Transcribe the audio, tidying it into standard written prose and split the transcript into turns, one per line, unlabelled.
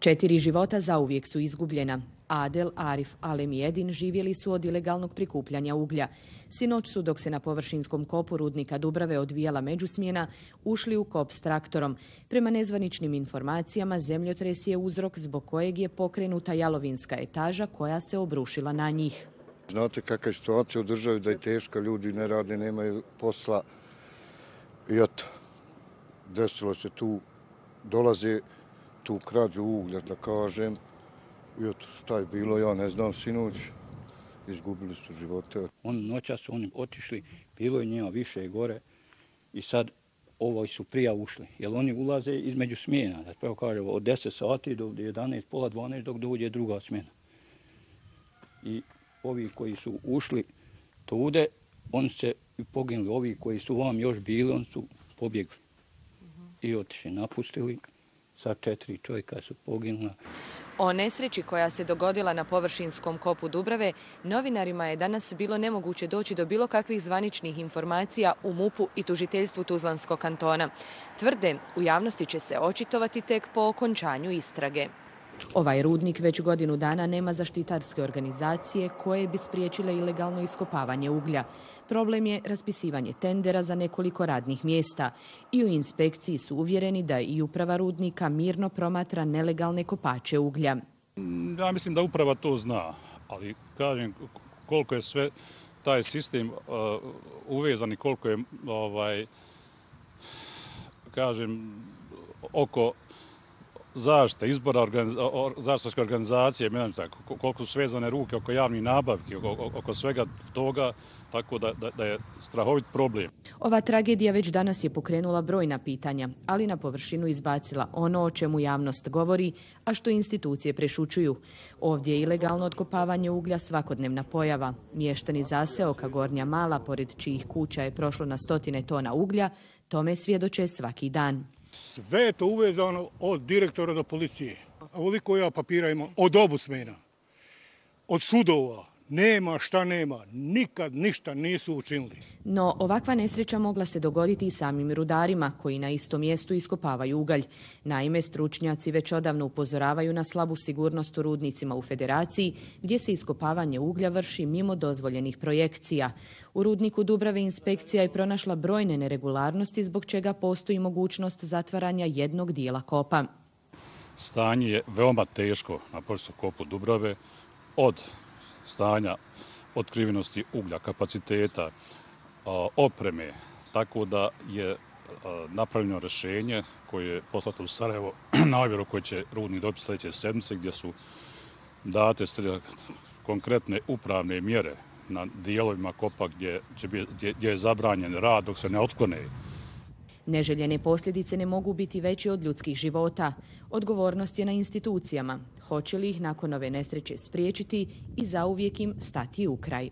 4 života zauvijek su izgubljena. Adel, Arif, Alem i Edin živjeli su od ilegalnog prikupljanja uglja. Sinoć su, dok se na površinskom kopu rudnika Dubrave odvijala međusmjena, ušli u kop s traktorom. Prema nezvaničnim informacijama, zemljotres je uzrok zbog kojeg je pokrenuta jalovinska etaža koja se obrušila na njih.
Znate kakva je situacija u državi, da je teška, ljudi ne rade, nemaju posla. I eto, desilo se tu, dolaze tu krađu uglja, da kažem. I eto, šta je bilo, ja ne znam, sinoć, izgubili su živote.
Noća su oni otišli, bilo je njima više gore i sad ovoj su prija ušli, jer oni ulaze između smjena, da pravo kažem, od 10 sati do 11, pola 12 dok dođe druga smjena. I ovi koji su ušli tude, oni se poginuli, ovi koji su vam još bili, oni su pobjegli i otišli, napustili, sa 4 čovjeka su poginula.
O nesreći koja se dogodila na površinskom kopu Dubrave, novinarima je danas bilo nemoguće doći do bilo kakvih zvaničnih informacija u MUP-u i tužiteljstvu Tuzlanskog kantona. Tvrde, u javnosti će se očitovati tek po okončanju istrage. Ovaj rudnik već godinu dana nema zaštitarske organizacije koje bi spriječile ilegalno iskopavanje uglja. Problem je raspisivanje tendera za nekoliko radnih mjesta i u inspekciji su uvjereni da i uprava rudnika mirno promatra nelegalne kopače uglja.
Ja mislim da uprava to zna, ali kažem koliko je sve taj sistem uvezan i koliko je oko zaštite, izbora zaštitarske organizacije, koliko su svezane ruke oko javnih nabavki, oko svega toga, tako da je strahovit problem.
Ova tragedija već danas je pokrenula brojna pitanja, ali na površinu izbacila ono o čemu javnost govori, a što institucije prešućuju. Ovdje je ilegalno otkopavanje uglja svakodnevna pojava. Mještani zaseoka Gornja Mala, pored čijih kuća je prošlo na 100 tona uglja, tome svjedoče svaki dan.
Sve je to uvezano od direktora do policije. Ovoliko ja papira imam od obucmena, od sudova. Nema šta nema, nikad ništa nisu učinili.
No, ovakva nesreća mogla se dogoditi i samim rudarima koji na istom mjestu iskopavaju ugalj. Naime, stručnjaci već odavno upozoravaju na slabu sigurnost u rudnicima u Federaciji, gdje se iskopavanje uglja vrši mimo dozvoljenih projekcija. U rudniku Dubrave inspekcija je pronašla brojne neregularnosti, zbog čega postoji mogućnost zatvaranja jednog dijela kopa.
Stanje je veoma teško na površinskom kopu Dubrave, od stanja otkrivenosti uglja, kapaciteta, opreme, tako da je napravljeno rješenje koje je poslato u Sarajevo na ovjeru koje će rudnik dobiti sljedeće sedmice, gdje su date konkretne upravne mjere na dijelovima kopa gdje je zabranjen rad dok se ne otklone.
Neželjene posljedice ne mogu biti veće od ljudskih života. Odgovornost je na institucijama. Hoće li ih nakon ove nesreće spriječiti i zauvijek im stati u kraj?